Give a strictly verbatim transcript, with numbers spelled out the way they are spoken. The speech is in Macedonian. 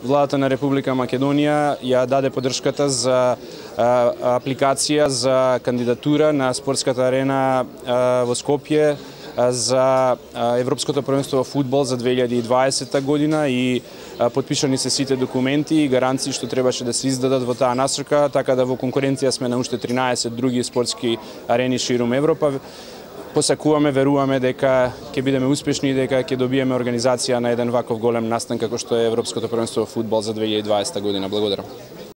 Владата на Република Македонија ја даде поддршката за апликација за кандидатура на спортската арена во Скопје за Европското првенство во фудбал за две илјади и дваесета година и потпишани се сите документи и гаранции што требаше да се издадат во таа насока, така да во конкуренција сме на уште тринаесет други спортски арени ширум Европа. Посакуваме, веруваме дека ќе бидеме успешни и дека ќе добиеме организација на еден ваков голем настан како што е Европското првенство во фудбал за две илјади и дваесета година. Благодарам.